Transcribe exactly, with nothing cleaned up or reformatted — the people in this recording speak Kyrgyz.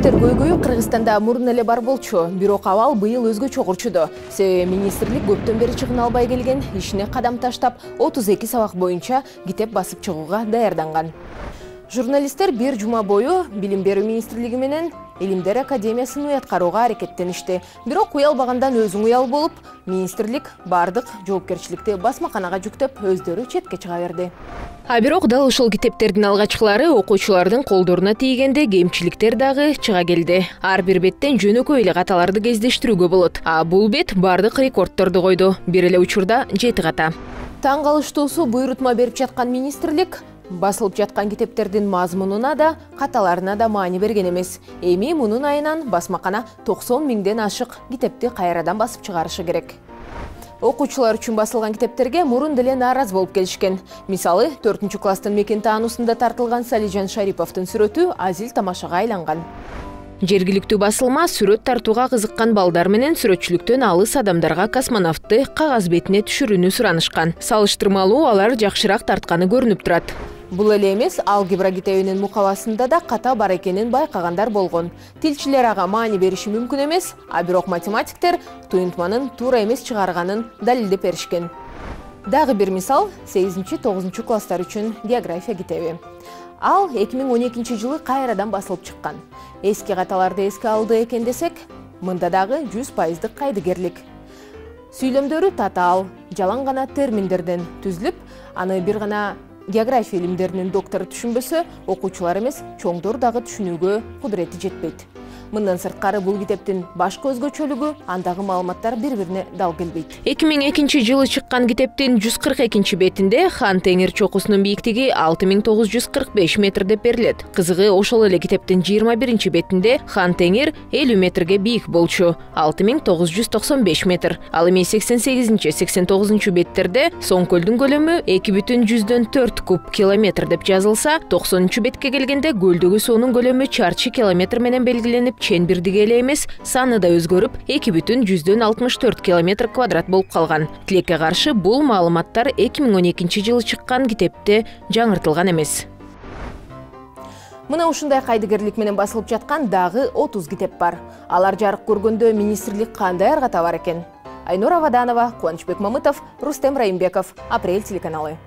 тергөөгө Кыргызстанда мурун эле бар болчу, бирок абал быйыл өзгөчө урчуду. Себеби министрлик көптөн бери чыгына албай келген ишине кадам таштап, отуз эки сабак боюнча китеп басып чыгууга даярданган. Журналисттер бир жума бою Билим берүү министрлиги менен Илимдер академиясын уяткарууга аракеттеништи. Бирок уялбагандан өзүң уял болуп, министрлик бардык жоопкерчиликти басмаканага жүктөп, өздөрү четке чыга берди. А бирок дал ошол китептердин алгачкылары окуучулардын колдоруна тийгенде кемчиликтер дагы чыга келди. Ар бир беттен жөнөкөй эле каталарды кездештирүүгө болот. А бул бет бардык рекордторду койду. Бир эле учурда жети ката. Таң калыштуусу буйрутма берип жаткан министрлик басылып жаткан китептердин мазмунуна да, каталарына да маани берген эмес. Эми мунун айынан басмакана токсон миңден ашык китепти кайрадан басып чыгарышы керек. Окуучулар үчүн басылган китептерге мурун деле нааразы болуп келишкен. Мисалы, төртүнчү класстын мекен таануусунда тартылган Салижан Шариповдун сүрөтү азил тамашага айланган. Жергиликтүү басылма сүрөт тартууга кызыккан балдар менен сүрөтчүлүктөн алыс адамдарга космонавтты кагаз бетине түшүрүүнү суранышкан. Салыштырмалуу алар жакшыраак тартканы көрүнүп турат. Бул эле эмес, алгебра китебинин мукабасында да ката бар экенин байкагандар болгон. Тилчилер ага маани бериши мүмкүн эмес, а бирок математиктер туюнтманын туура эмес чыгарганын далилдеп беришкен. Дагы бир мисал, сегизинчи тогузунчу класстар үчүн география китеби. Ал эки миң он экинчи жылы кайрадан басылып чыккан. Эски каталарды эске алды экен десек, мында дагы жүз пайыздык кайдыгерлик. Сүйлөмдөрү татаал, жалаң гана терминдерден түзүлүп, аны бир гана география илимдеринин доктору түшүнбөсө, окуучулар эмес, чоңдор дагы түшүнүүгө кудурети жетпейт. Мындан сырткары бул китептин башкы өзгөчөлүгү, андагы маалыматтар бири-бирине дал келбейт. эки миң экинчи жылы чыккан китептин жүз кырк экинчи бетинде Хан Теңир чокусунун бийиктиги алты миң тогуз жүз кырк беш метр деп берилет. Кызыгы, ошол эле китептин жыйырма биринчи бетинде Хан Теңир элүү метрге бийик болчу, алты миң тогуз жүз токсон беш метр. Ал эми сексен сегизинчи сексен тогузунчу беттерде Соң көлдүн көлөмү эки бүтүн жүздөн төрт куб километр деп жазылса, токсонунчу бетке келгенде көлдөгү суунун көлөмү чарчы километр менен белгиленип, ченбирдиги эле эмес, саны да өзгөрүп, эки бүтүн жүздөн алтымыш төрт километр квадрат болуп калган. Тилекке каршы, бул маалыматтар эки миң он экинчи жылы чыккан китепте жаңыртылган эмес. Мына ушундай кайдыгерлик менен басылып жаткан дагы отуз китеп бар. Алар жарык көргөндө министрлик кандай арга табар экен? Айнура Ваданова, Кубанычбек Мамытов, Рустем Раимбеков, Апрель телеканалы.